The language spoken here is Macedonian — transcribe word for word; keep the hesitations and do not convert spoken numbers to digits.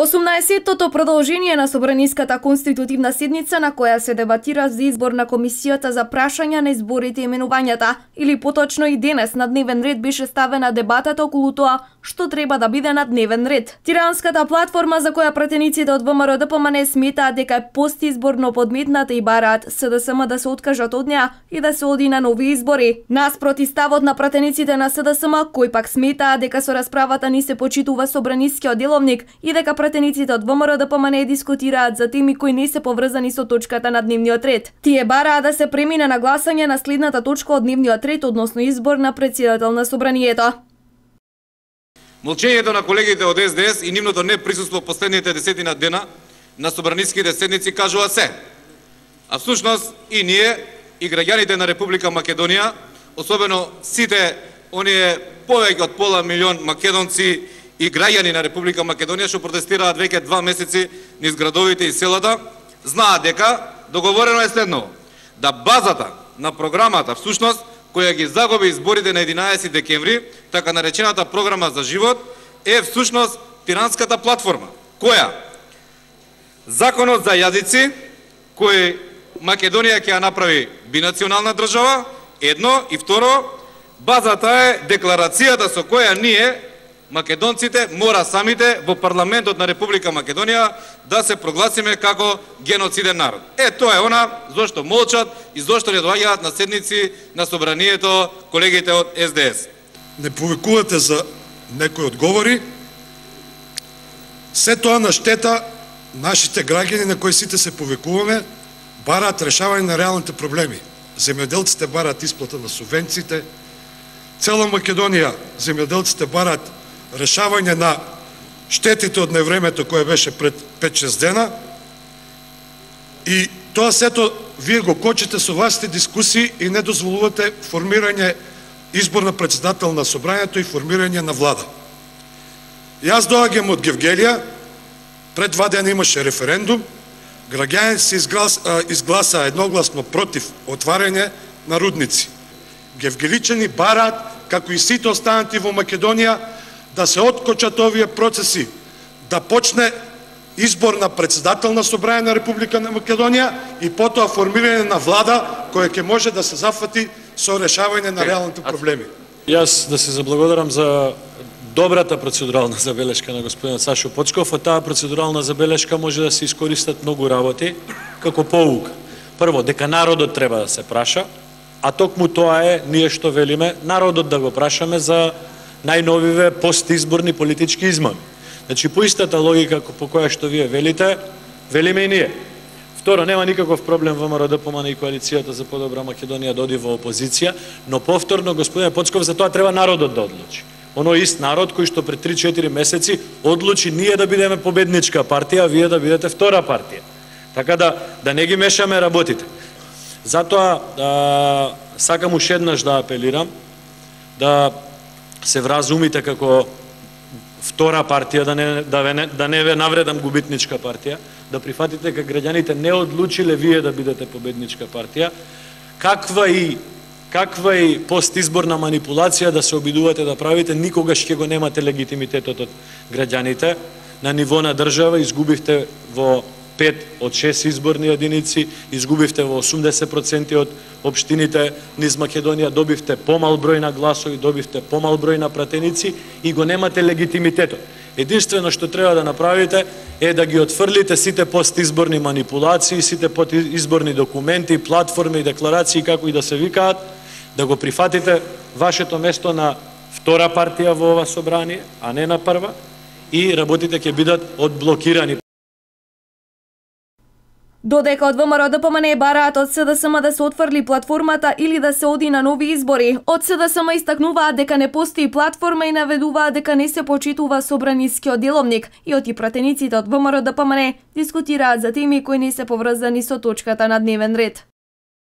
осумнаесеттото продолжение на Собраниската конститутивна седница на која се дебатира за избор на комисијата за прашања на изборите и именувањата, или поточно и денес на дневен ред беше ставена дебатата околу тоа што треба да биде на дневен ред. Тиранската платформа за која пратениците од ВМРО-ДПМН сметаат дека е постизборно подметната и бараат СДСМ да се откажат од неа и да се оди на нови избори. Наспроти ставот на пратениците на СДСМ, кои пак сметаат дека со расправата ни се почитува собранискиот деловник и дека пратениците од ВМРО-ДПМН дискутираат за теми кои не се поврзани со точката на дневниот ред. Тие бараа да се премине на гласање на следната точка од дневниот ред, односно избор на претседател на собранието. Молчењето на колегите од С Д С и нивното неприсуство последните десетина дена на собраниските седници кажува се. А всушност и ние, и граѓаните на Република Македонија, особено сите оние повеќе од пола милион македонци и граѓани на Република Македонија што протестираат веќе два месеци низ градовите и селата, знаат дека договорено е следново: да базата на програмата всушност која ги загуби изборите на единаесети декември, така наречената програма за живот, е всушност Тиранската платформа, која законот за јазици, кој Македонија ќе ја направи бинационална држава, едно, и второ, базата е декларацијата со која ние, македонците, мора самите во парламентот на Република Македонија да се прогласиме како геноциден народ. Е, тоа е она зошто молчат и зошто не доаѓаат на седници на собранието колегите од С Д С. Не повикувате за некои одговори. Се тоа на штета нашите граѓани на кои сите се повикуваме бараат решавање на реалните проблеми. Земјоделците бараат исплата на субвенциите, цела Македонија земјоделците бараат решавање на штетите од невремето кое беше пред пет-шест дена, и тоа сето вие го кочите со вашите дискусии и не дозволувате формирање избор на председател на собранието и формирање на влада. Јас доаѓам од Гевгелија, пред два дена имаше референдум, граѓаните се изгласаа едногласно против отварање на рудници. Гевгеличани бараат, како и сите останати во Македонија, да се откочат овие процеси, да почне избор на председател на собрање на Република на Македонија и потоа формирање на влада која ќе може да се зафати со решавање на реалните проблеми. Јас да се заблагодарам за добрата процедурална забелешка на господинот Сашо Поцков. Од таа процедурална забелешка може да се искористат многу работи како поука. Прво, дека народот треба да се праша, а токму тоа е ние што велиме, народот да го прашаме за најновиве постизборни политички измами. Значи, по истата логика по која што вие велите, велиме и ние. Второ, нема никаков проблем ВМРО-ДПМН и коалицијата за подобра Македонија да оди во опозиција, но повторно, господин Поцков, за тоа треба народот да одлучи. Оној ист народ кој што пред три-четири месеци одлучи ние да бидеме победничка партија, а вие да бидете втора партија. Така да, да не ги мешаме работите. Затоа, а, сакам уште еднаш да апелирам, да се вразумите како втора партија, да не, да, не, да не ве навредам губитничка партија, да прифатите дека граѓаните не одлучиле вие да бидете победничка партија, каква и каква и постизборна манипулација да се обидувате да правите, никогаш ќе го немате легитимитетот од граѓаните. На ниво на држава изгубивте во пет од шест изборни единици, изгубивте во осумдесет проценти од општините низ Македонија, добивте помал број на гласови, добивте помал број на пратеници и го немате легитимитетот. Единствено што треба да направите е да ги отфрлите сите постизборни манипулации, сите постизборни документи, платформи и декларации, како и да се викаат, да го прифатите вашето место на втора партија во ова собрание, а не на прва, и работите ќе бидат одблокирани. Додека од ВМРО-ДПМН бараат од СДСМ да се отфрли платформата или да се оди на нови избори, од СДСМ истакнуваат дека не постои платформа и наведуваат дека не се почитува собранискиот деловник, и оти пратениците од ВМРО-ДПМН дискутираат за теми кои не се поврзани со точката на дневен ред.